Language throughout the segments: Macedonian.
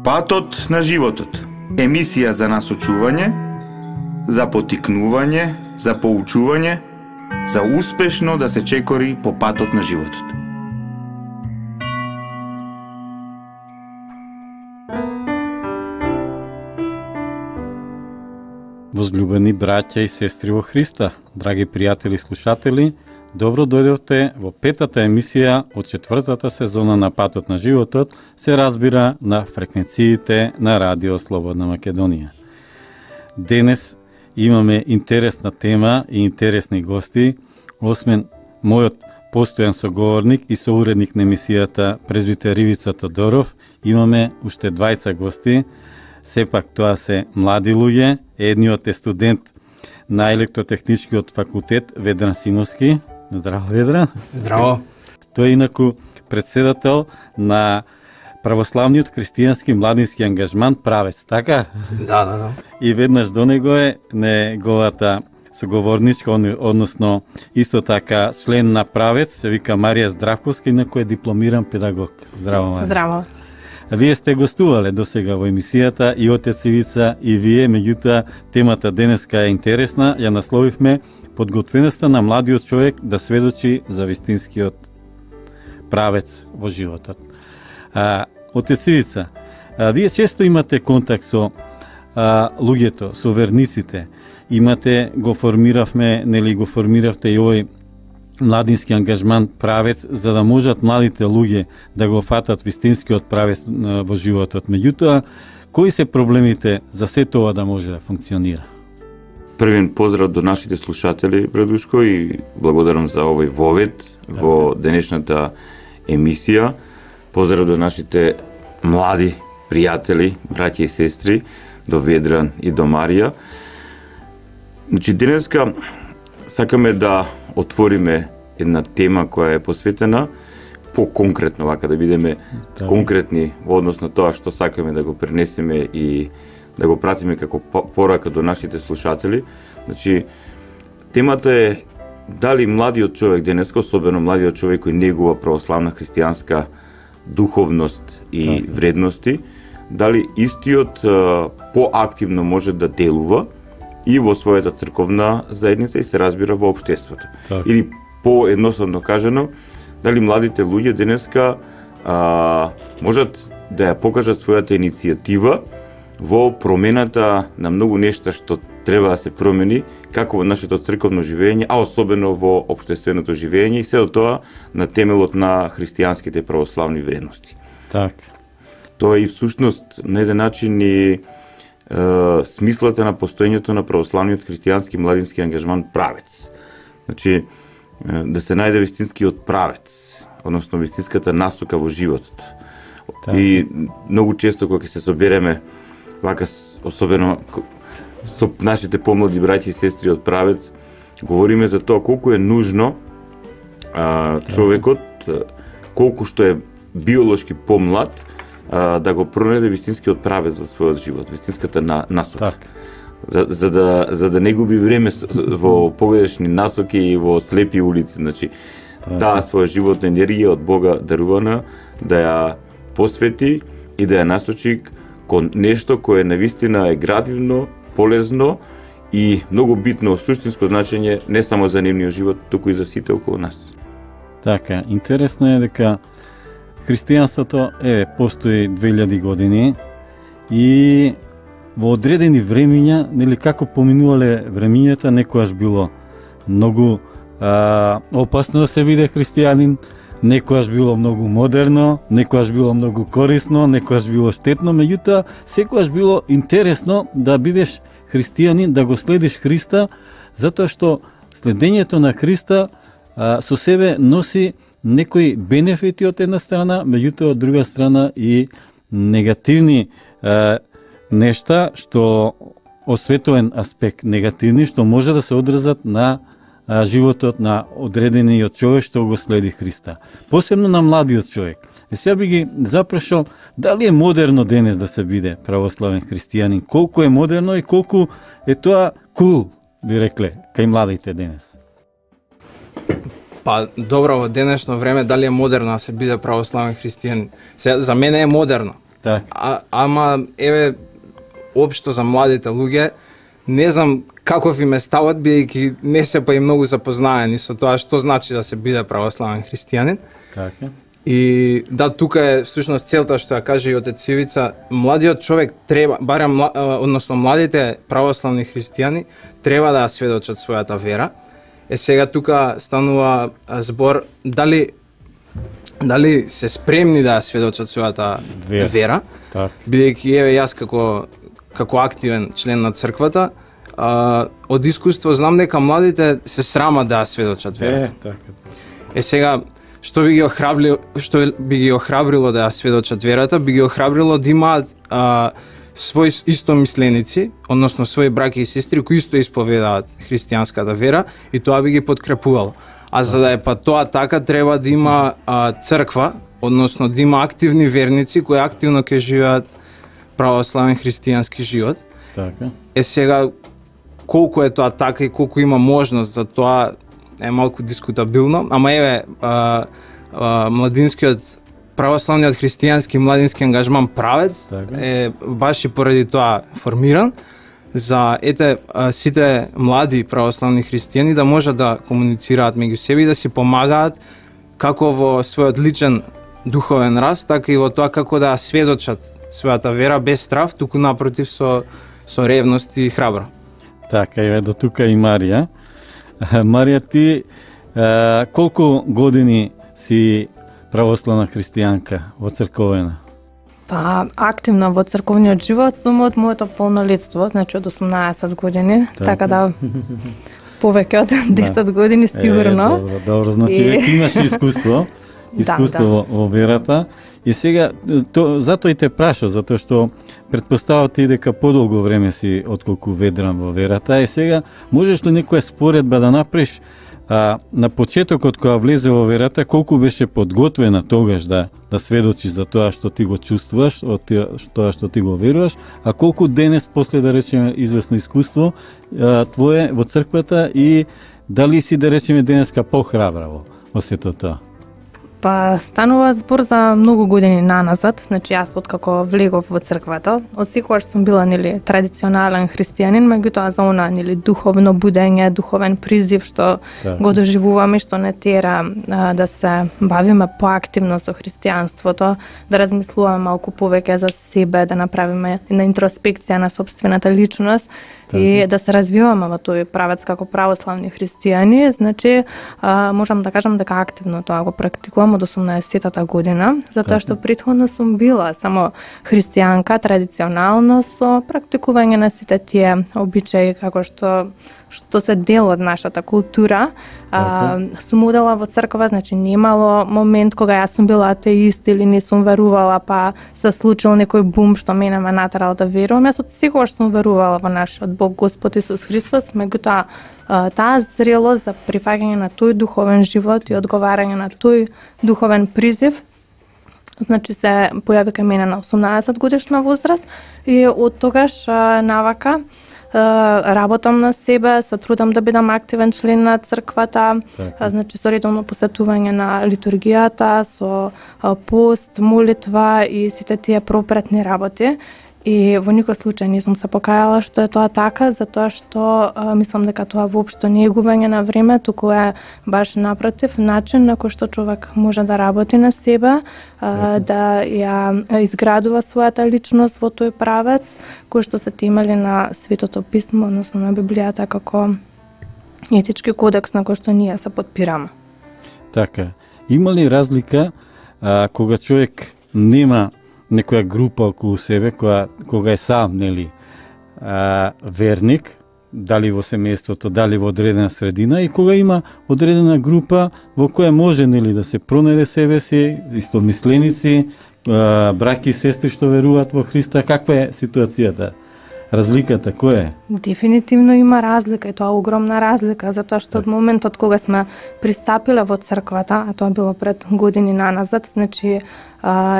Патот на животот. Емисија за насочување, за потикнување, за поучување, за успешно да се чекори по патот на животот. Возлюбени браќа и сестри во Христа, драги пријатели и слушатели, добро дојдовте во петата емисија од четвртата сезона на Патот на животот, се разбира на фреквенциите на Радио Слободна Македонија. Денес имаме интересна тема и интересни гости, освен мојот постојан соговорник и соуредник на емисијата презвитер Ивица Тодоров, имаме уште двајца гости. Сепак тоа се млади луѓе, едниот е студент на електротехничкиот факултет Ведран Симовски. Здраво, Ведран. Здраво. Тој е инаку председател на православниот христијански младински ангажман Правец, така? Да. И веднаш до него е неговата соговорничка, односно исто така член на Правец, се вика Марија Здравковска, инаку е дипломиран педагог. Здраво, Марија. Здраво. Вие сте гостувале досега во емисијата и отец Ивица и вие, меѓутоа темата денеска е интересна, ја насловивме подготвеноста на младиот човек да сведочи за вистинскиот правец во животот. Отец Ивица, вие често имате контакт со луѓето, со верниците. Го формиравте и овој младински ангажман Правец, за да можат младите луѓе да го фатат вистинскиот правец во животот. Меѓутоа, кои се проблемите за се тоа да може да функционира? Првен поздрав до нашите слушатели, Брадушко, и благодарам за овој вовед во денешната емисија. Поздрав до нашите млади пријатели, браќа и сестри, до Ведран и до Марија. Значи, денеска сакаме да отвориме една тема која е посветена по-конкретно, вака да бидеме конкретни во однос на тоа што сакаме да го пренесеме и да го пратиме како порака до нашите слушатели. Значи, темата е дали младиот човек денеска, особено младиот човек кој негува православна христијанска духовност и вредности, дали истиот поактивно може да делува и во својата црковна заедница и се разбира во општеството. Или поедноставно кажано, дали младите луѓе денеска можат да ја покажат својата иницијатива во промената на многу нешта што треба да се промени, како во нашето црковно живење, а особено во општественото живење и се до тоа на темелот на христијанските православни вредности. Тоа е и всушност на еден начин и смислата на постоењето на православниот христијански младински ангажман Правец. Значи, да се најде вистинскиот правец, односно вистинската насока во животот. И многу често кога се собереме, вака особено со нашите помлади браќи и сестри од Правец, говориме за тоа колку е нужно човекот, колку што е биолошки помлад, да го пронајде вистинскиот правец во својот живот, вистинската насока. За да не губи време во погрешни насоки и во слепи улици. Значи, таа своја животна енергија од Бога дарувана да ја посвети и да ја насочи кон нешто кое навистина е градивно, полезно и многу битно суштинско значење не само за нивниот живот, туку и за сите околу нас. Така, интересно е дека христијанството постои 2000 години и во одредени времиња, нели како поминувале времињата, некојаш било многу опасно да се биде христијанин, некојаш било многу модерно, некојаш било многу корисно, некојаш било штетно, меѓутоа секојаш било интересно да бидеш христијанин, да го следиш Христа, затоа што следењето на Христа со себе носи некои бенефити од една страна, меѓутоа од друга страна и негативни нешта, што осветоен аспект негативни, што може да се одразат на животот на одредениот човек што го следи Христа. Посебно на младиот човек. Сега би ги запрашал дали е модерно денес да се биде православен христијанин, колку е модерно и колку е тоа кул, би рекле, кај младите денес. Па, добро, во денешно време дали е модерно да се биде православен христијанин? За мене е модерно. Така. Ама еве општо за младите луѓе не знам каков им е ставот, бидејќи не се па и многу запознаени со тоа што значи да се биде православен христијанин. Така. И да, тука е всушност целта што ја каже и отец Ивица, младиот човек треба, барем односно младите православни христијани треба да ја сведочат својата вера. Сега тука станува збор дали се спремни да ја сведочат својата вера. Так. Бидејќи еве јас како активен член на црквата, од искуство знам дека младите се срамат да ја сведочат вера. Така. Сега што би ги охрабрило да ја сведочат верата, би ги охрабрило да имаат свои истомисленици, односно свои браќа и сестри кои исто исповедаат христијанската вера и тоа би ги подкрепувало. А за да е па тоа така, треба да има црква, односно да има активни верници кои активно ќе живеат православен христијански живот. Така. Сега колку е тоа така и колку има можност за тоа е малку дискутабилно, ама еве младинскиот православниот христијански младински ангажман Правец е баш и поради тоа формиран за сите млади православни христијани да можат да комуницираат меѓу себе и да си помагаат како во својот личен духовен раст, така и во тоа како да сведочат својата вера без страв, туку напротив со ревност и храбро. Така, еве до тука и Марија. Марија, ти колку години си православна христијанка во црковена? Па, активна во црковниот живот сум од моето полнолетство, значи од 18 години, така да повеќе од 10 години сигурно. Добро, значи веќе имаш искуство во верата. И сега, затоа и те прашав, затоа што претпоставав ти дека подолго време си отколку ведран во верата. И сега, можеш ли некоја споредба да направиш на почетокот кога влезе во верата, колку беше подготвена тогаш да сведочиш за тоа што ти го чувствуваш, од тоа што ти го веруваш, а колку денес после да речеме известно искуство твое во црквата и дали си да речеме денеска похрабра во сето тоа? Па станува збор за многу години наназад, значи јас откако влегов во црквата, од секогаш сум била традиционален христијанин, меѓутоа за она духовно будење, духовен призив што го доживуваме, што не тера да се бавиме поактивно со христијанството, да размислуваме малку повеќе за себе, да направиме една интроспекција на сопствената личност и да се развиваме во тој правец како православни христијани, значи можам да кажам дека активно тоа го практикувам од 18-та година, затоа што претходно сум била само христијанка, традиционално со практикување на сите тие обичаи како што се дел од нашата култура. Сум одела во црква, значи немало момент кога јас сум била атеист или не сум верувала, па се случил некој бум што мене ме натерал да верувам. Јас од секогаш сум верувала во нашиот Бог Господ Исус Христос, меѓутоа таа зрелост за прифаќање на тој духовен живот и одговарање на тој духовен призив, значи се појави кај мене на 18 годишна возраст и од тогаш навака работам на себе, се трудам да бидам активен член на црквата, значи со редовно посетување на литургијата, со пост, молитва и сите тие пропретни работи. И во никој случај не сум се покајала што е тоа така, затоа што мислам дека тоа воопшто не е губење на време, туку е баш напротив начин на кој што човек може да работи на себе, да ја изградува својата личност во тој правец кој што се темели на Светото писмо, односно на Библијата како етички кодекс на кој што ние се подпираме. Така, има ли разлика кога човек нема некоја група околу себе, кога е сам, верник, дали во семејството, дали во одредена средина, и кога има одредена група во која може да се пронајде себе си, истомисленици, браќи и сестри што веруваат во Христа, каква е ситуацијата? Разликата која е? Дефинитивно има разлика и тоа огромна разлика, затоа што од моментот кога сме пристапиле во црквата, а тоа било пред години наназад, значи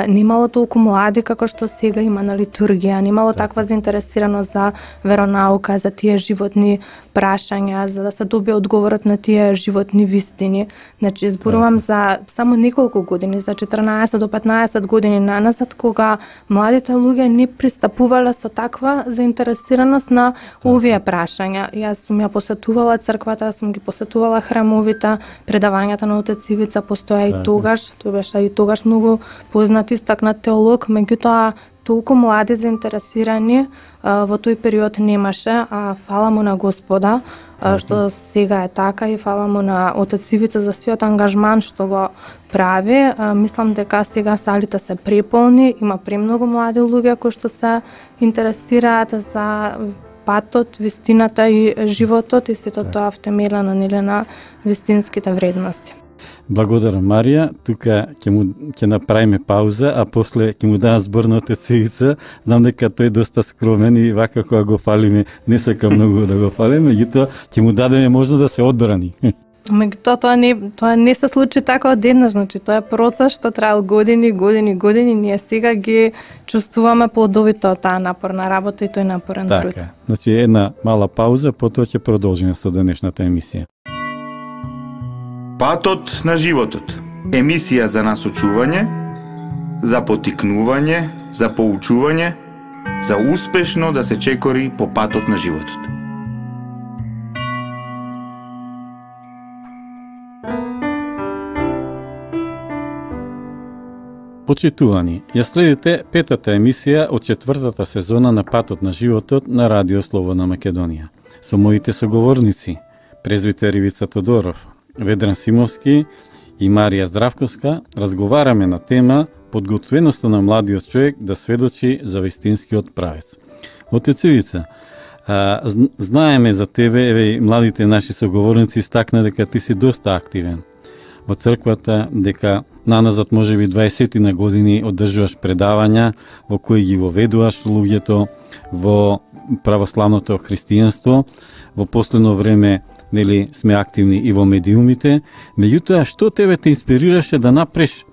немало толку млади како што сега има на литургија, немало таква заинтересираност за веронаука, за тие животни прашања, за да се добие одговорот на тие животни вистини. Значи, зборувам за само неколку години, за 14 до 15 години наназад, кога младите луѓе не пристапувале со таква заинтересираност на овие прашања. Јас сум ја посетувала црквата, сум ги посетувала храмовите, предавањата на отец Ивица постоја и тогаш, тој беше и тогаш многу познат истакнат теолог, меѓутоа толку млади заинтересирани во тој период немаше, а фала му на Господа што сега е така и фала му на отец Ивица за сиот ангажман што го прави. Мислам дека сега салите се преполни, има премногу млади луѓе кои што се интересираат за патот, вистината и животот и сето тоа втемелено на вистинските вредности. Благодарам, Марија. Тука ќе направиме пауза, а после ќе му дадам збор на отец Ивица. Знам дека тој е доста скромен и вака кога го фалиме, не сака многу да го фалиме, меѓутоа ќе му дадеме можност да се одбрани. Меѓутоа тоа не се случи така одеднаш, значи тоа е процес што траел години. Ние сега ги чувствуваме плодовите од таа напорна работа и тој напорен труд. Така, значи една мала пауза, потоа ќе продолжиме со денешната емисија. Патот на животот. Емисија за насочување, за потикнување, за поучување, за успешно да се чекори по патот на животот. Почитувани, ја следите петата емисија од четвртата сезона на Патот на животот на Радио Слободна Македонија. Со моите соговорници, презвитер Ивица Тодоров, Ведран Симовски и Марија Здравковска, разговараме на тема подготвеноста на младиот човек да сведочи за вистинскиот правец. Отец Ивица, знаеме за тебе, еве младите наши соговорници истакна дека ти си доста активен во црквата, дека наназад можеби 20 на години одржуваш предавања во кои ги воведуваш луѓето во православното христијанство. Во последно време нели сме активни и во медиумите. Меѓутоа, што тебе те инспирираше да направиш,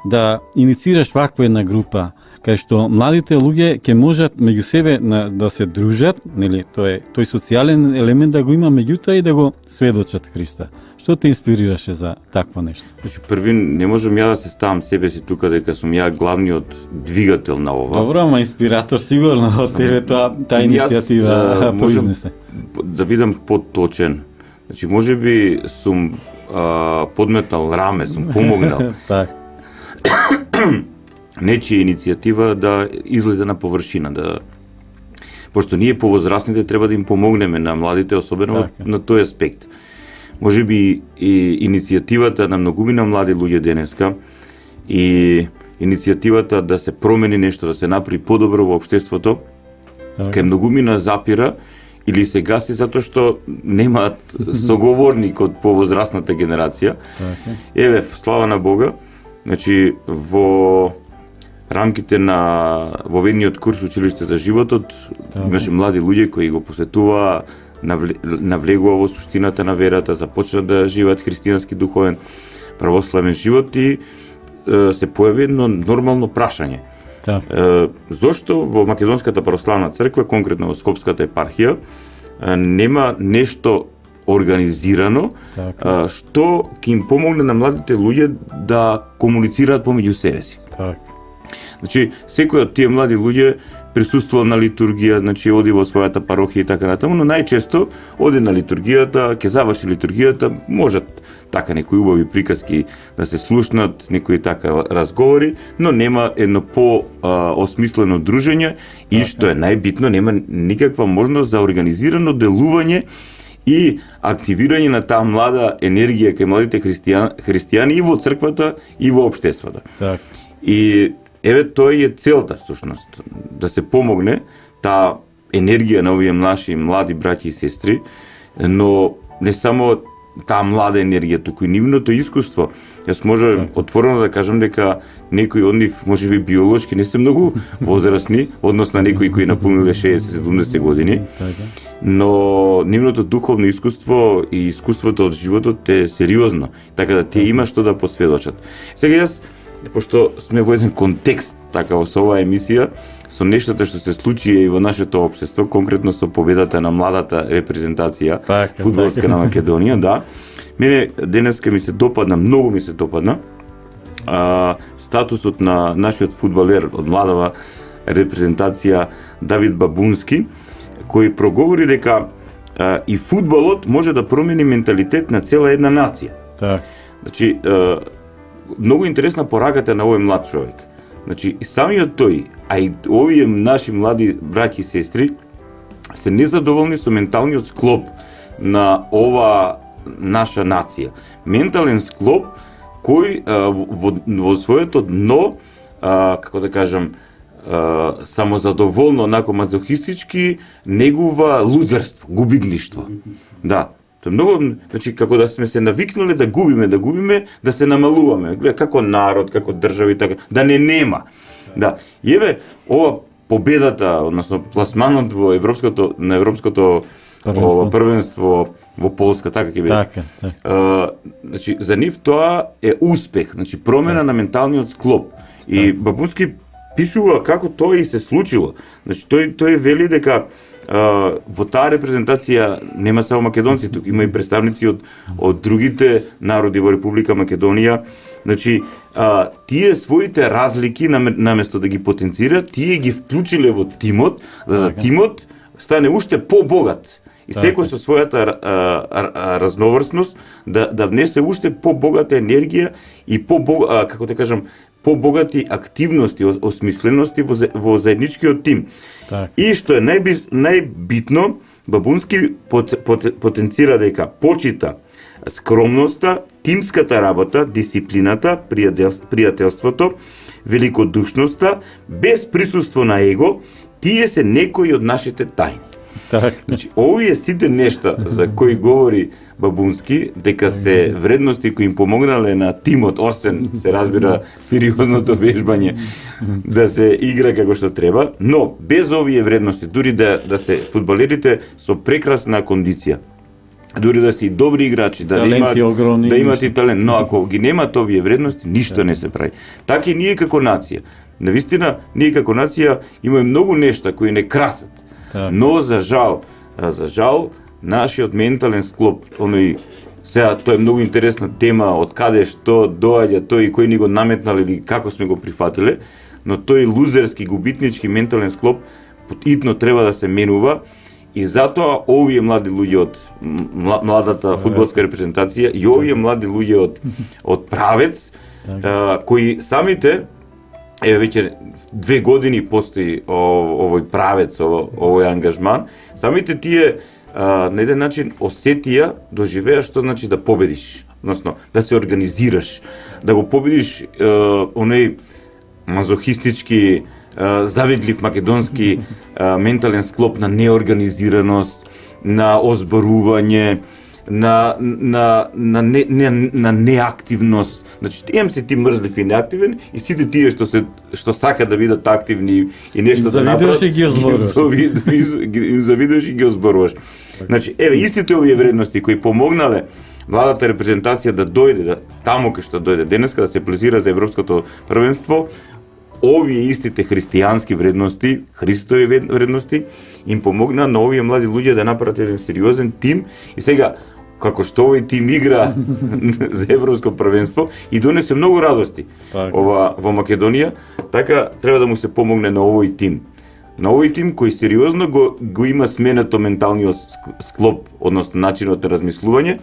да иницираш ваква една група, кај што младите луѓе ќе можат меѓу себе да се дружат, нели тој социјален елемент да го има, меѓутоа и да го сведочат Христа. Што те инспирираше за такво нешто? Значи, први не можам ја да се ставам себе си тука дека сум ја главниот двигател на ова. Добро, ама инспиратор сигурно од тебе таа иницијатива произнесе. Да бидам поточен. Значи, можеби сум подметал раме, сум помогнал. Так. Нечија иницијатива да излезе на површина, пошто ние повозрасните треба да им помогнеме на младите, особено на тој аспект. Можеби и иницијативата на многумина млади луѓе денеска и иницијативата да се промени нешто, да се направи подобро во општеството, кај многумина запира или се гаси затоа што немаат соговорник од повозрасната генерација. Еве, слава на Бога, значи во рамките на воведниот курс Училиште за животот имаше млади луѓе кои го посетуваа, навлегува во суштината на верата, започна да живеат христијански духовен православен живот и се појави едно нормално прашање. Зошто во Македонската православна црква, конкретно во Скопската епархија, нема нешто организирано што ќе им помогне на младите луѓе да комуницираат помеѓу себе си. Значи, секој од тие млади луѓе присуствува на литургија, значи оди во својата парохија и така натаму, но најчесто оди на литургијата, ќе заврши литургијата, можат така некои убави приказки да се слушнат, некои така разговори, но нема едно по-осмислено дружење и што е најбитно, нема никаква можност за организирано делување и активирање на таа млада енергија кај младите христијани и во црквата и во општеството. И еве тој е целта всушност, да се помогне таа енергија на овие наши млади браќи и сестри, но не само таа млада енергија, туку и нивното искуство. Јас можам отворено да кажам дека некои од нив можеби биолошки не се многу возрастни, односно некои кои напунале 60-70 години, но нивното духовно искуство и искуството од животот е сериозно, така да тие има што да посведочат. Сега јас пошто сме во еден контекст така со оваа емисија, со нештата што се случи и во нашето општество, конкретно со победата на младата репрезентација фудбалска на Македонија, да. Мене денеска ми се допадна, многу ми се допадна статусот на нашиот фудбалер од младава репрезентација Давид Бабунски, кој проговори дека и фудбалот може да промени менталитет на цела една нација. Так. Значи, многу интересна пораката на овој млад човек. Значи, самиот тој, а и овие наши млади браќи и сестри, се незадоволни со менталниот склоп на ова наша нација. Ментален склоп кој во своето дно, како да кажам, самозадоволно, онако мазохистички, негува лузерство, губитништво. Да, тоа многу, значи како да сме се навикнале да губиме, да се намалуваме, гледа како народ, како држави, така, да не нема. Да, и еве ова победата, односно пласманот во на европското првенство во Полска, така ќе биде. Така. Значи за нив тоа е успех, значи промена на менталниот склоп. И Бабунски пишува како тоа и се случило. Значи тој вели дека во таа репрезентација нема само македонци, тук има и представници од другите народи во Република Македонија. Значи, тие своите разлики наместо да ги потенцираат, тие ги вклучиле во тимот, за да тимот стане уште побогат. И секој со својата разноврсност да внесе уште побогата енергија и како да кажам, побогати активности, осмислености во заедничкиот тим. Так. И што е најбитно, Бабунски потенцира дека почита скромноста, тимската работа, дисциплината, пријателството, великодушноста, без присуство на его, тие се некои од нашите тајни. Так. Значи, овие сите нешта за кои говори Бабунски, дека се вредности кои им помогнале на тимот, освен се разбира сериозното вежбање, да се игра како што треба, но без овие вредности, дури да се фудбалерите со прекрасна кондиција, дури да си добри играчи, да имат и талент, но ако ги немат овие вредности, ништо не се прави. Така и ние како нација. Навистина, ние како нација имаме многу нешта кои не красат. Но за жал, нашиот ментален склоп, сега тоа е многу интересна тема, од каде што доаѓа тој и кој ни го наметнал или како сме го прифатиле, но тој лузерски, губитнички ментален склоп итно треба да се менува и затоа овие млади луѓе од младата фудбалска репрезентација и овие млади луѓе од Правец, кои самите веќе 2 години постои овој Правец, овој ангажман, самите тие на еден начин осетија, доживеа што значи да победиш, односно да се организираш, да го победиш оној мазохистички, завидлив македонски ментален склоп на неорганизираност, на озборување, на неактивност. Значи, се ти мрзлив и неактивен и сите тие што сакаат да бидат активни и нешто да направат, им завидуваш и ги озборуваш. Значи, еве истите овие вредности кои помогнале младата репрезентација да дојде таму кај што дојде денеска, да се пласира за европското првенство, овие истите христијански вредности, Христови вредности, им помогна на овие млади луѓе да направат еден сериозен тим и сега како што овој тим игра за европско првенство и донесе многу радости во Македонија, така треба да му се помогне на овој тим. На овој тим кој сериозно го има сменето менталниот склоп, односно начинот на размислување,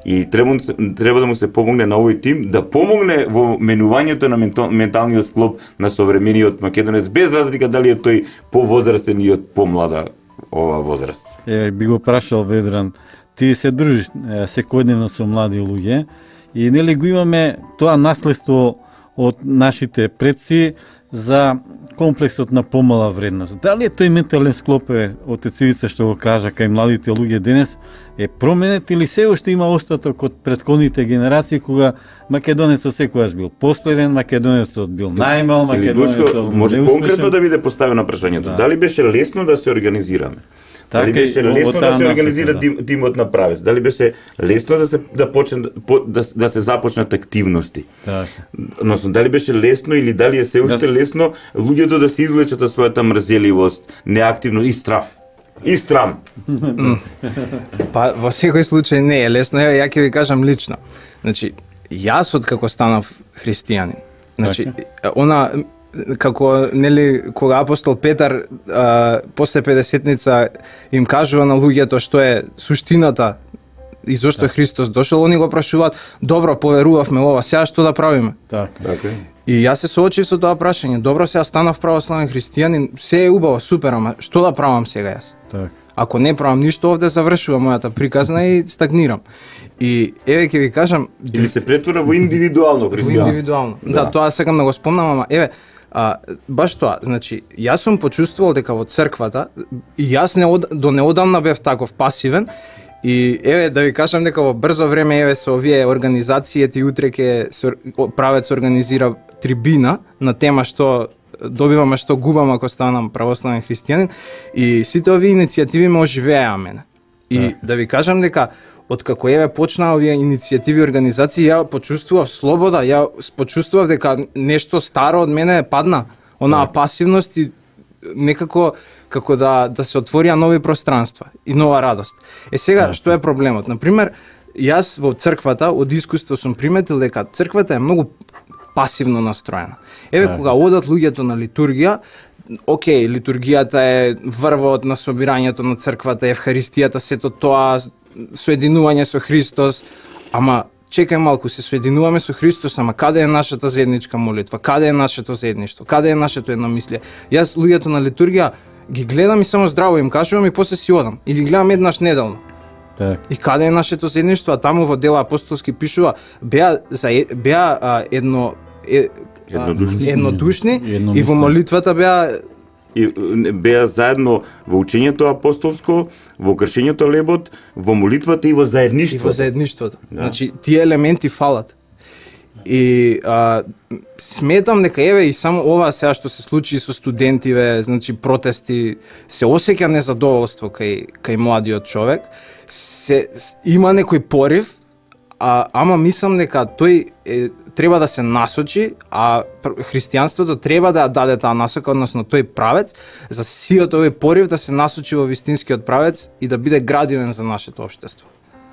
и треба да му се помогне на овој тим да помогне во менувањето на менталниот склоп на современиот македонец, без разлика дали е тој повозрастен и од помлада ова возраст. Би го прашал Ведран, ти се дружиш секојдневно со млади луѓе и нели го имаме тоа наследство од нашите предци за комплексот на помала вредност. Дали е тој ментален склоп од Цивица што го кажа кај младите луѓе денес е променет или се уште има остаток од претходните генерации кога македонецот секогаш бил последен, македонецот бил најмал, македонецот може неуспешен. конкретно да биде поставено прашањето. Дали беше лесно да се организираме? Дали беше лесно да се организира тимот на правец? Дали беше лесно да почне да се започнат активности? Така. Односно, дали беше лесно или дали е се уште лесно луѓето да се извлечат од својата мрзеливост, неактивност и страв? И страм. Па во секој случај не е лесно. Еве ја ќе ви кажам лично. Значи, јас откако станав христијанин, значи она како нели кога апостол Петар после 50-ница им кажува на луѓето што е суштината и зошто Христос дошол, они го прашуваат: добро, поверувавме ова, сега што да правиме? Така. И јас се соочив со тоа прашање. Добро, сега станав православен христијанин, се е убаво, супер, ама што да правам сега јас? Так. Ако не правам ништо, овде завршува мојата приказна и стагнирам. И еве ќе ви кажам, Или се претвора во индивидуално христијанство. индивидуално. Да, тоа сакам да го спомнам, ама еве, баш тоа, значи, јас сум почувствувал дека во црквата, и јас до неодамна бев таков пасивен, и еве да ви кажам дека во брзо време еве со овие организациите и утре ќе правец организира трибина на тема што добиваме, што губам ако станам православен христијанин, и сите овие иницијативи ме оживеа мене. И да ви кажам дека откако еве почнаа овие иницијативи и организации, ја почувствував слобода, ја почувствував дека нешто старо од мене падна, онаа пасивност и некако како да се отворија нови пространства и нова радост. Сега, што е проблемот? Например, јас во црквата од искуство сум приметил дека црквата е многу пасивно настроена. Еве кога одат луѓето на литургија, окей, литургијата е врвот на собирањето на црквата, евхаристијата, сето тоа, соединување со Христос, ама чекај малку, се соединуваме со Христос, ама каде е нашата заедничка молитва, каде е нашето заедништво, каде е нашето едномислие? Јас луѓето на литургија ги гледам и само здраво им кажувам и после си одам. И ги гледам еднаш неделно. Так. И каде е нашето заедништво? А таму во Дела апостолски пишува беа еднодушни и во молитвата беа заедно во учењето апостолско, во кршењето лебот, во молитвата и во заедништвото. И во заедништвото. Да. Значи, тие елементи фалат. И сметам дека еве и само ова сега што се случи со студентиве, значи протести, се осеќа незадоволство кај младиот човек, има некој порив, ама мислам дека тој треба да се насочи, а христијанството треба да ја даде таа насока, односно тој правец, за сиот овој порив да се насочи во вистинскиот правец и да биде градивен за нашето општество.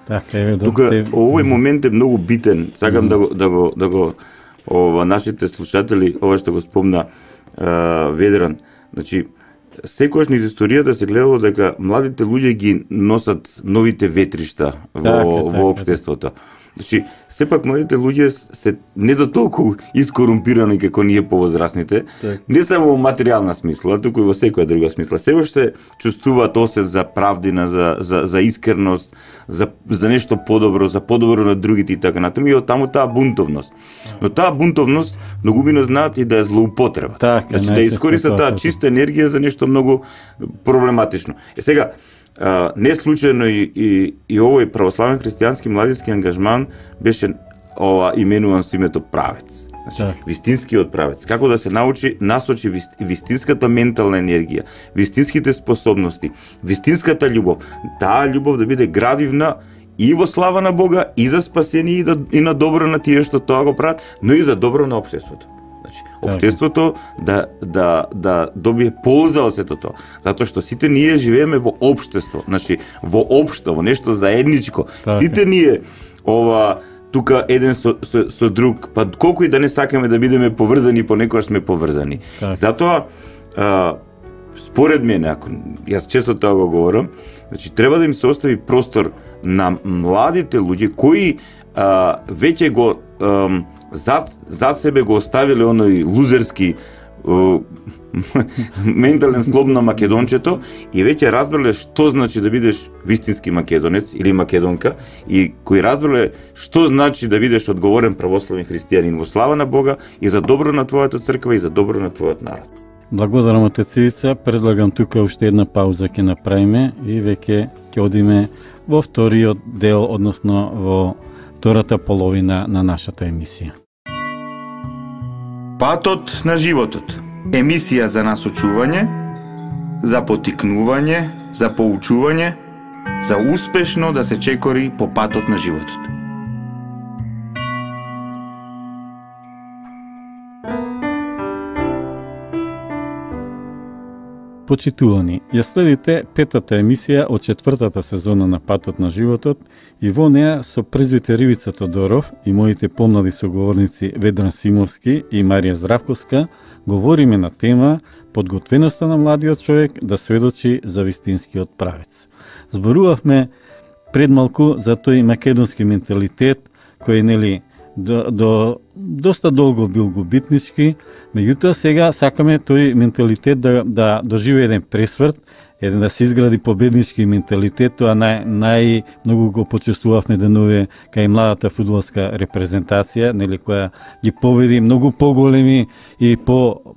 Така е, тука овој момент е многу битен. Сакам да го нашите слушатели, ова што го спомна Ведран. Значи, секогаш низ историјата се гледало дека младите луѓе ги носат новите ветришта во општеството. Значи, сепак младите луѓе се не до толку искорумпирани како ние повозрасните, не само во материјална смисла, туку и во секоја друга смисла. Се уште чувствуваат осет за правдина, за искреност, за нешто подобро, за подобро на другите и така натаму, и од таму таа бунтовност. Но таа бунтовност многумина знаат и да ја злоупотребат. Значи да искористат таа чиста енергија за нешто многу проблематично. Сега, не случајно и овој православен христијански младински ангажман беше именуван со името правец. Значи, вистинскиот правец. Како да се насочи вистинската ментална енергија, вистинските способности, вистинската љубов. Таа љубов да биде градивна и во слава на Бога, и за спасение, и на добро на тие што тоа го прават, но и за добро на општеството. Значи, општеството да добие полза од сето тоа. Затоа што сите ние живееме во општество, значи во општо, во нешто заедничко. Сите ние тука еден со друг, па колку и да не сакаме да бидеме поврзани, понекогаш сме поврзани. Затоа според мене, ако јас често тоа го говорам, значи треба да им се остави простор на младите луѓе кои веќе го зад себе го оставиле оној лузерски ментален склоп на македончето и веќе разбрале што значи да бидеш вистински македонец или македонка и кои разбрале што значи да бидеш одговорен православен христијанин во слава на Бога и за добро на твојата црква и за добро на твојот народ. Благодарам те Цивица, предлагам тука уште една пауза ќе направиме и веќе ќе одиме во вториот дел, односно во втората половина на нашата емисија. Патот на животот. Емисија за насочување, за потикнување, за поучување, за успешно да се чекори по патот на животот. Почитувани, ја следите петата емисија од четвртата сезона на Патот на животот и во неа со презвитер Ивица Тодоров и моите помлади соговорници Ведран Симовски и Марија Здравковска говориме на тема подготвеноста на младиот човек да сведочи за вистинскиот правец. Зборувавме пред малку за тој македонски менталитет кој до доста долго бил губитнички, меѓутоа сега сакаме тој менталитет да доживее еден пресврт, да се изгради победнички менталитет, тоа најмногу го почувствувавме денове кај младата фудбалска репрезентација, која ги победи многу поголеми и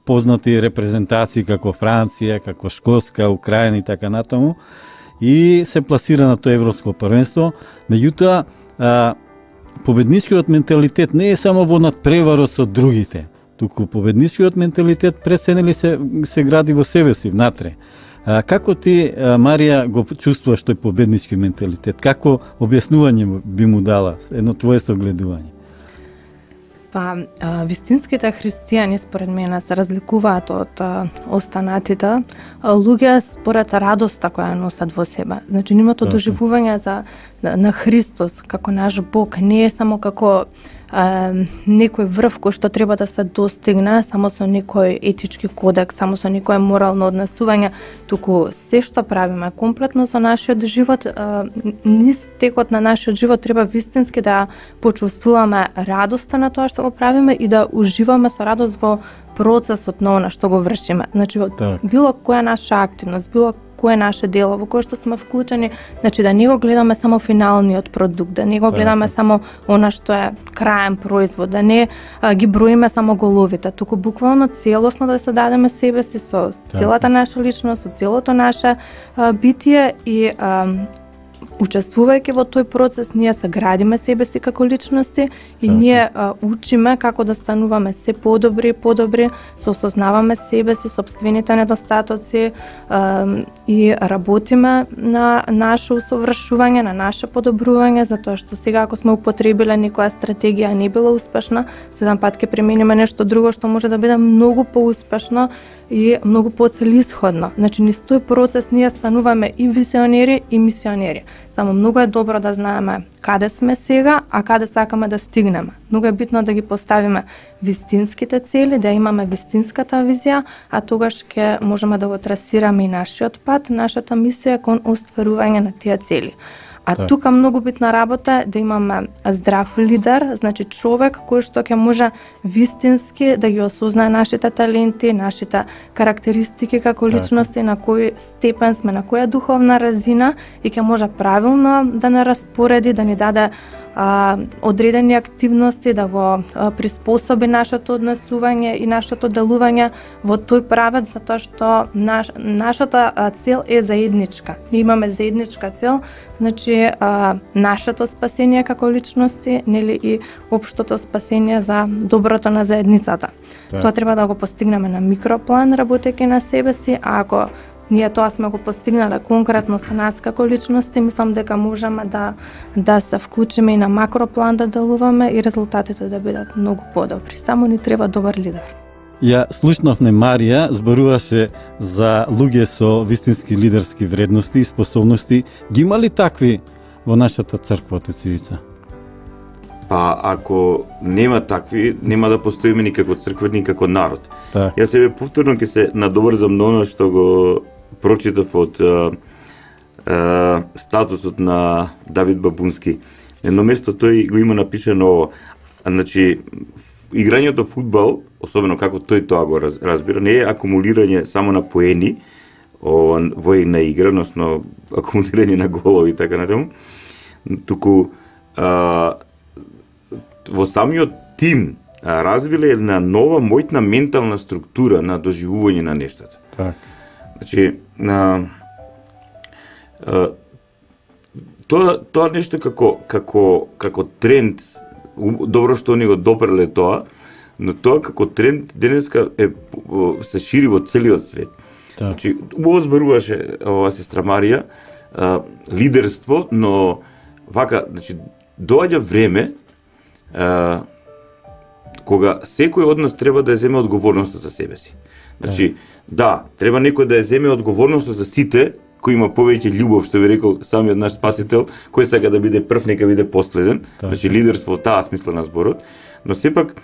познати репрезентации како Франција, како Шкотска, Украина и така натаму, и се пласира на тоа европско првенство. Меѓутоа победничкиот менталитет не е само во надпреварот со другите, туку победничкиот менталитет пресенели се гради во себе си, внатре. Како ти, Марија, го чувствуваш тој победнички менталитет? Како објаснување би му дала, едно твое согледување? Вистинските христијани според мене се разликуваат од останатите луѓе според радоста која носат во себе. Значи нивното доживување на Христос како наш Бог не е само како некој врв кој што треба да се достигне само со некој етички кодекс, само со некој морално однесување, туку се што правиме комплетно со нашиот живот, низ текот на нашиот живот треба вистински да почувствуваме радоста на тоа што го правиме и да уживаме со радост во процесот на она што го вршиме. Значи било која наша активност, било кое наше дело во кое што сме вклучени, значи да не го гледаме само финалниот продукт, да не го гледаме само она што е краен производ, да не ги броиме само головите, туку буквално целосно да се дадеме себе си со целата наша личност, со целото наше битие и учествувајќи во тој процес, ние се градиме себе си како личности и ние учиме како да стануваме се подобри и подобри, се осознаваме себе си, сопствените недостатоци и работиме на наше усовршување, на наше подобрување, затоа што сега ако сме употребиле некоја стратегија не била успешна, следен пат ќе примениме нешто друго што може да биде многу поуспешно и многу поцелисходно. Значи, низ тој процес ние стануваме и визионери и мисионери. Само многу е добро да знаеме каде сме сега, а каде сакаме да стигнеме. Многу е битно да ги поставиме вистинските цели, да имаме вистинската визија, а тогаш ќе можеме да го трасираме и нашиот пат, нашата мисија кон остварување на тие цели. А тука многу битна работа е да имаме здрав лидер, значи човек кој што ќе може вистински да ги осознае нашите таленти, нашите карактеристики како личности, на кој степен сме, на која духовна разина и ќе може правилно да не распореди, да ни даде одредени активности, да го приспособи нашето однесување и нашето делување во тој правец, затоа што нашата цел е заедничка. Ние имаме заедничка цел, значи нашето спасение како личности, нели и општото спасение за доброто на заедницата. Тоа треба да го постигнеме на микроплан, работејќи на себе си, а ако ние тоа сме го постигнале конкретно со нас како личности, мислам дека можеме да се вклучиме и на макроплан да делуваме и резултатите да бидат многу подобри. Само ни треба добар лидер. Ја слушнавме Марија, зборуваше за луѓе со вистински лидерски вредности и способности. Ги има ли такви во нашата црква, отец Ивица? Па ако нема такви, нема да постоиме ни како црква, ни како народ. Так. Јас себе повторно ќе се надоврзам на оно што го прочитав од статусот на Давид Бабунски. Едно место тој го има напишано ово. Значи, играњето фудбал, особено како тој тоа го разбира, не е акумулирање само на поени во една игра, односно акумулирање на голови и така натаму, туку во самиот тим развиле една нова моќна ментална структура на доживување на нештата. Так. Значи, тоа нешто како тренд, добро што ни го допреле тоа, но тоа како тренд денеска се шири во целиот свет. Так. Значи, убаво зборуваше ова сестра Марија, лидерство, но вака, значи, доаѓа време кога секој од нас треба да ја земе одговорноста за себе си. Значи, да, треба некој да ја земе одговорноста за сите, кој има повеќе љубов, што ви рекол самиот наш спасител, кој сака да биде прв, нека биде последен. Значи, лидерство во таа смисла на зборот, но сепак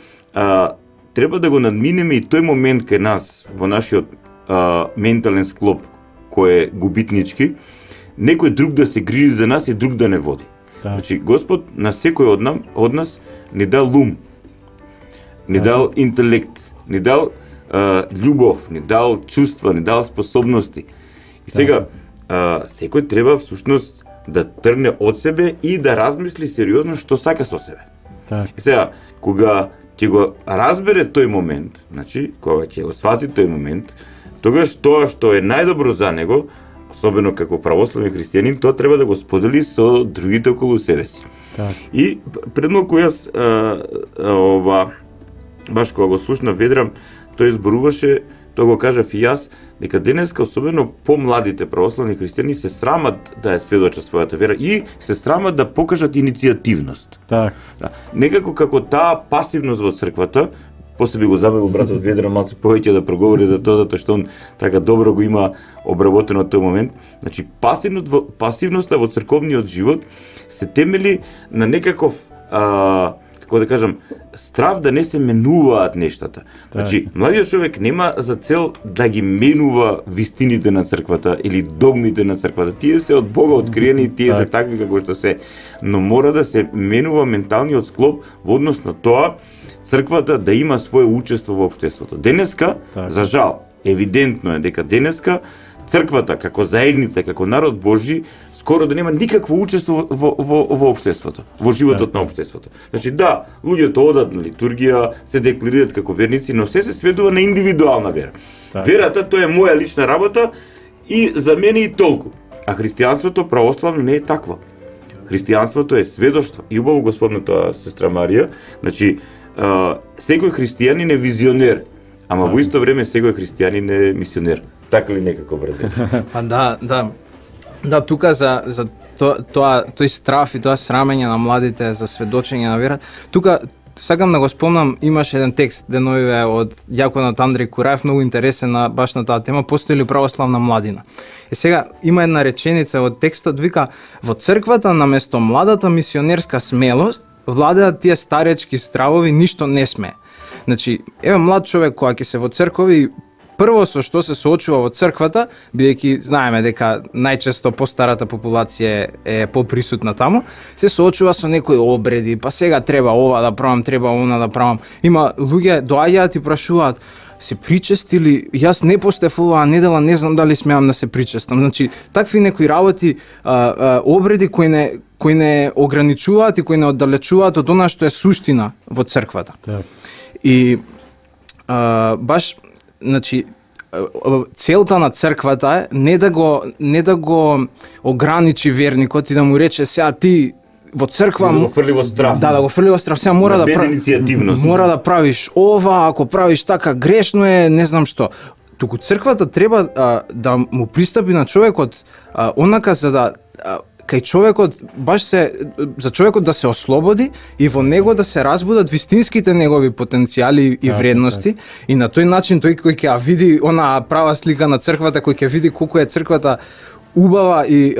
треба да го надминеме и тој момент кај нас, во нашиот ментален склоп, кој е губитнички, некој друг да се грижи за нас и друг да не води. Значи, Господ на секој од нас ни дал ум, ни дал интелект, ни дал љубов, ни дал чувства, ни дал способности. И сега, секој треба всушност да тргне од себе и да размисли сериозно што сака со себе. И сега, кога ќе го разбере тој момент, значи, кога ќе го свати тој момент, тогаш тоа што е најдобро за него, особено како православен христијанин, тоа треба да го сподели со другите околу себе си. И пред малку јас баш кога го слушнав Ведрам, тој зборуваше, тоа го кажав и јас, дека денеска особено помладите православни христијани се срамат да ја сведочат својата вера и се срамат да покажат иницијативност. Так. Да. Некако како таа пасивност во црквата, после би го забавил братот Ведрам малку повеќе да проговори за тоа, затоа што он така добро го има обработено тој момент. Значи, пасивноста во црковниот живот се темели на некаков како да кажам, страв да не се менуваат нештата. Значи, младиот човек нема за цел да ги менува вистините на црквата или догмите на црквата. Тие се од Бога откриени и тие се такви како што се, но мора да се менува менталниот склоп во однос на тоа црквата да има свое учество во општеството. Денеска, за жал, евидентно е дека денеска црквата како заедница, како народ Божи, скоро да нема никакво учество во општеството, во животот на општеството. Значи да, луѓето одат на литургија, се декларираат како верници, но се сведува на индивидуална вера. Верата тоа е моја лична работа и за мене и толку. А христијанството православно не е такво. Христијанството е сведоштво. И убаво господна тоа сестра Марија, значи секој христијанин е визионер, ама во исто време секој христијанин е мисионер. Така ли некако, брате? Па да, тука за тој страф и тоа срамење на младите за сведочење на вера. Тука сакам да го спомнам, имаше еден текст деновиве од јаконот Андреј Кураев, многу интересен баш на таа тема, постои ли православна младина. И сега има една реченица од текстот, вика: во црквата наместо младата мисионерска смелост владеат тие старечки стравови, ништо не сме. Значи, еве млад човек која ќе се во цркови, прво со што се соочува во црквата, бидејќи знаеме дека најчесто постарата популација е поприсутна таму, се соочува со некои обреди, па сега треба ова да правам, треба она да правам. Има луѓе доаѓаат и прашуваат: се причестили? Јас не постев оваа недела, не знам дали смеам да се причестам. Значи, такви некои работи, обреди кои не ограничуваат и кои не оддалечуваат од она што е суштина во црквата. И баш, значи, целта на црквата е не да го ограничи верникот и да му рече: сега ти во црква да го фрли во страф. Да го фрли во страф. Сега мора мора да правиш ова, ако правиш така грешно е, не знам што. Туку црквата треба да му пристапи на човекот онака за да кај човекот за човекот да се ослободи и во него да се разбудат вистинските негови потенцијали и вредности, и на тој начин тој кој ќе види она права слика на црквата, кој ќе види колку е црквата убава и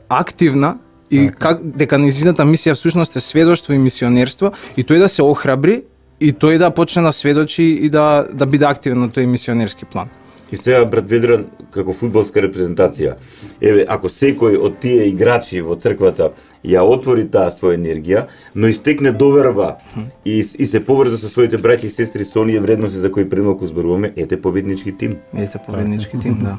активна и дека нејзината мисија всушност е сведоштво и мисионерство, и тој да се охрабри и тој да почне да сведочи и да биде активен на тој мисионерски план. И сега, брат Ведран, како фудбалска репрезентација, еве, ако секој од тие играчи во црквата ја отвори таа своја енергија, но истекне доверба и се поврза со своите браќи и сестри со оние вредности за кои премалку зборуваме, ете победнички тим. Ете победнички тим, да.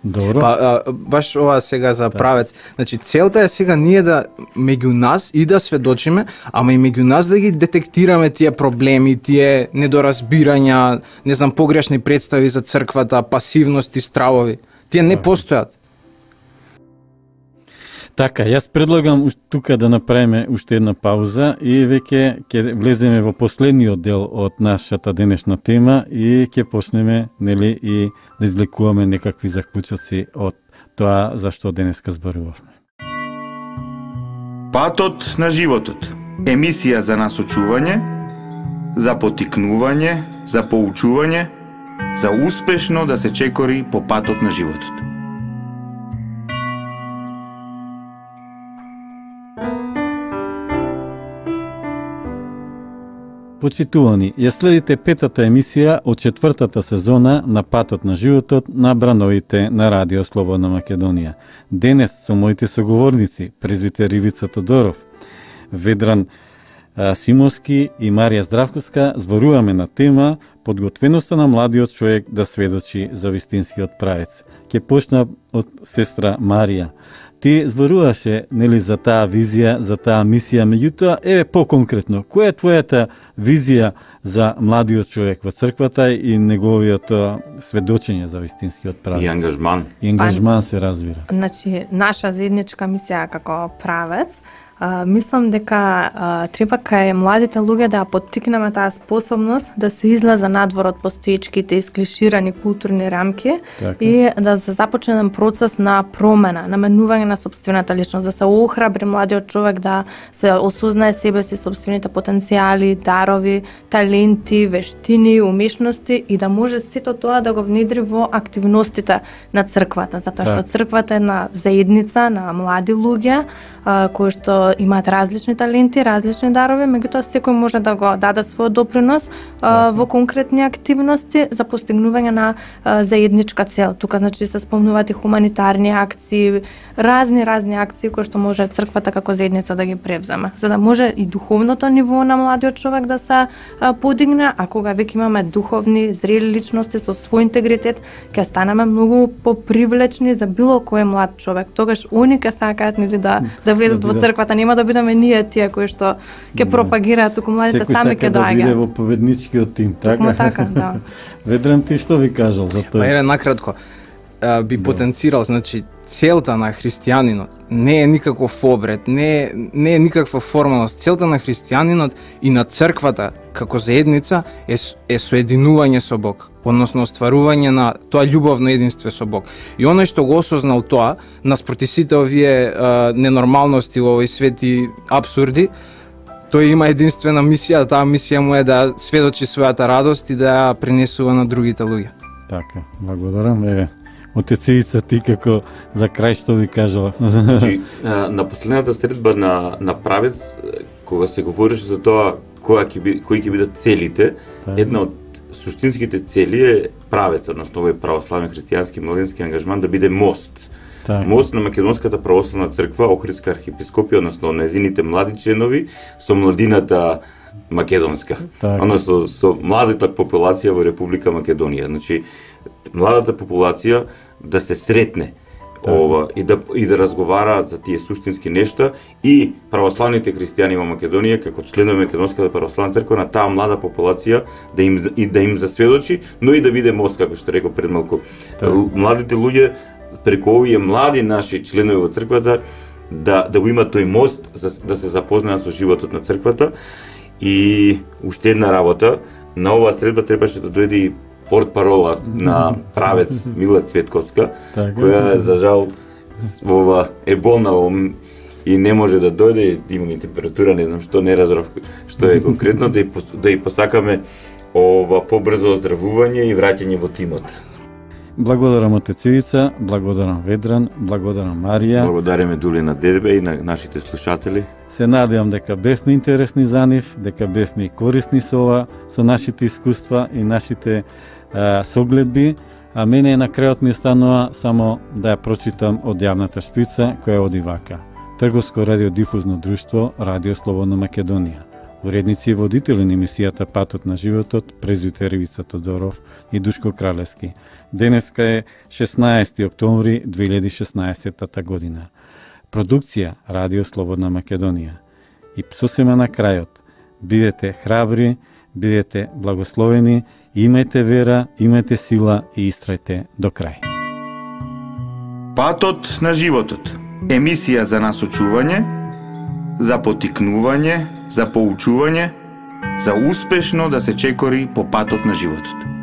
Добро. Баш ова сега за правец. Значи целта е сега ние да меѓу нас и да сведочиме, ама и меѓу нас да ги детектираме тие проблеми, тие недоразбирања, не знам, погрешни представи за црквата, пасивности, стравови. Тие не постојат. Така, јас предлагам тука да направиме уште една пауза и веќе ќе влеземе во последниот дел од нашата денешна тема и ќе почнеме, нели, и да извлекуваме некакви заклучоци од тоа за што денеска зборувавме. Патот на животот. Емисија за насочување, за поттикнување, за поучување, за успешно да се чекори по патот на животот. Почитувани, ја следите петата емисија од четвртата сезона на Патот на животот на брановите на Радио Слободна Македонија. Денес со моите соговорници, презвитер Ивица Тодоров, Ведран Симовски и Марија Здравковска, зборуваме на тема подготвеноста на младиот човек да сведочи за вистинскиот правец. Ќе почна од сестра Марија. Ти зборуваше, нели, за таа визија, за таа мисија, меѓутоа, еве поконкретно, која е твојата визија за младиот човек во црквата и неговиот сведочење за вистинскиот правец? И ангажман. И ангажман се разбира. Значи, наша заедничка мисија како правец, мислам дека треба кај младите луѓе да поттикнеме таа способност да се излезе надвор од постоечките исклиширани културни рамки и да се започне процес на промена, на менување на сопствената личност, да се охрабри младиот човек да се осознае себе си, сопствените потенцијали, дарови, таленти, вештини, умешности и да може сето тоа да го внедри во активностите на црквата, затоа што црквата е една заедница на млади луѓе кои што имаат различни таленти, различни дарови, меѓутоа секој може да го даде својот допринос во конкретни активности за постигнување на заедничка цел. Тука значи се спомнуваат и хуманитарни акции, разни акции кои што може црквата како заедница да ги превземе, за да може и духовното ниво на младиот човек да се подигне, а кога веќе имаме духовни, зрели личности со свој интегритет, ќе станеме многу попривлечни за било кој млад човек. Тогаш они ќе сакаат нели да влезат во црквата, нема да бидеме ние тие кои што ќе пропагираат, туку младите сами ќе доаѓаат. Секој сака да биде во победничкиот тим, така? Така, да. Ведран, ти што би кажал за тоа? Па еве накратко, би потенцирал, значи целта на христијанинот не е никаков обред, не е никаква формалност. Целта на христијанинот и на црквата како заедница е соединување со Бог, односно остварување на тоа љубовно единство со Бог. И оној што го осознал тоа, наспроти сите овие ненормалности во овој свет и абсурди, тој има единствена мисија, таа мисија му е да сведочи својата радост и да ја пренесува на другите луѓе. Така, благодарам. Еве, Отец Ивица, ти како за крај што ви кажала? Значи, на последната средба на правец, кога се говореше за тоа кои ќе бидат целите, една од суштинските цели е правец, односно овој православен христијански младински ангажман да биде мост. Мост на Македонската православна црква, Охридска архиепископија, односно незините млади членови со младината македонска, односно со младата популација во Република Македонија. Значи, младата популација да се сретне и да разговараат за тие суштински нешта и православните христијани во Македонија како членови Македонската православна црква на таа млада популација да им засведочи, но и да биде мост, како што реков пред малку. Младите луѓе преку овие млади наши членови во црквата да го имат тој мост да се запознаат со животот на црквата. И уште една работа, на оваа средба требаше да дојде и портпарола на правец Мила Цветковска, која за жал е болна и не може да дојде, има и температура, не знам што, не разбрав што е конкретно, да и посакаме побрзо оздравување и враќање во тимот. Благодарам Отец Ивица, благодарам Ведран, благодарам Марија. Благодариме Дули на тебе и на нашите слушатели. Се надевам дека бевме интересни за нив, дека бевме и корисни со нашите искуства и нашите согледби, а мене на крајот ми останува само да ја прочитам од јавната шпица која оди вака. Трговско радиодифузно друштво Радио Слободна Македонија. Уредници и водители на емисијата Патот на животот, презвитер Ивица Тодоров и Душко Кралевски. Денеска е 16 октомври 2016 година. Продукција Радио Слободна Македонија. И сосема на крајот, бидете храбри, бидете благословени, имајте вера, имајте сила и истрајте до крај. Патот на животот. Емисија за насочување, за потикнување, за поучување, за успешно да се чекори по патот на животот.